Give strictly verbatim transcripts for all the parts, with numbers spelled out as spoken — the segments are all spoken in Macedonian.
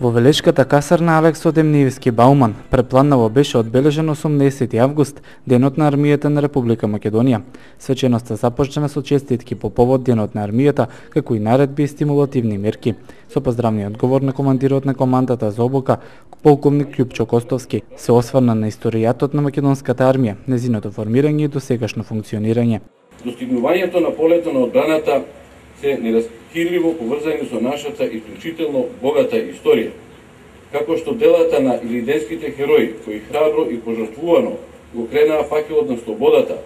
Во Велешката касарна Алекс Демниевски Бауман препланнаво беше одбележен осумнаесети август, денот на армијата на Република Македонија. Свеченоста започна со честитки по повод денот на армијата, како и наредби и стимулативни мерки. Со поздравниот говор на командирот на командата за обука, полковник Љупчо Костовски, се осврна на историјатот на македонската армија, незиното формирање и досегашно функционирање. Достигнувањето на полето на одбраната се неразкирливо поврзани со нашата исклучително богата историја, како што делата на илиденските херои, кои храбро и пожртвувано го кренаа факелот на слободата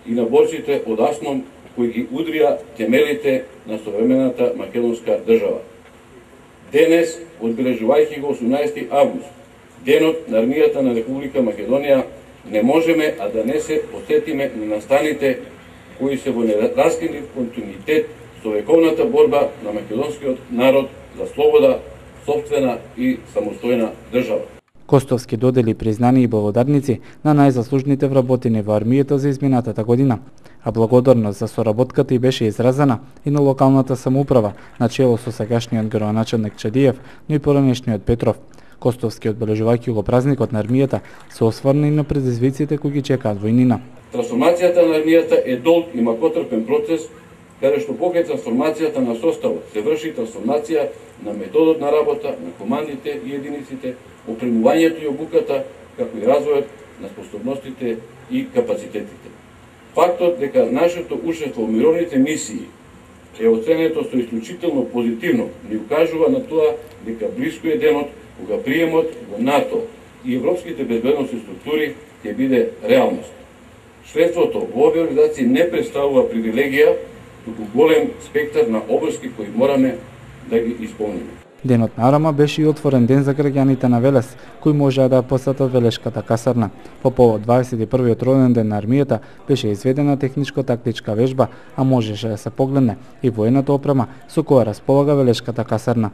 и на борците од Асном, кои ги удрија темелите на современата македонска држава. Денес, одбележувајќи го осумнаесети август, денот на армијата на Република Македонија, не можеме а да не се посетиме на настаните кои се во нераскинлив континуитет со вековната борба на македонскиот народ за слобода, сопствена и самостојна држава. Костовски додели признани и благодарници на најзаслужните вработени во армијата за изминатата година, а благодарност за соработката и беше изразена и на локалната самоуправа, начело со сегашниот градоначелник Чадиев, но и поранешниот Петров. Костовски, одбележувајќи го празникот на армијата, се осврна и на предизвиците кои ги чекаат војнина. Трансформацијата на армијата е долг и макотрпен процес, каде што покрај трансформацијата на составот се врши трансформација на методот на работа, на командите и единиците, опремувањето и обуката, како и развојот на способностите и капацитетите. Фактот дека нашето учество во мировните мисии е оценето со исклучително позитивно ни укажува на тоа дека блиско е денот кога приемот во НАТО и европските безбедносни структури ќе биде реалност. Членството во овие организации не представува привилегија, туку голем спектар на обврски кои мораме да ги исполниме. Денот на Арама беше и отворен ден за граѓаните на Велес, кои можеа да посетат Велешката касарна. По повод дваесет и првиот роден ден на армијата беше изведена техничко-тактичка вежба, а можеше да се погледне и воената опрема со која располага Велешката касарна.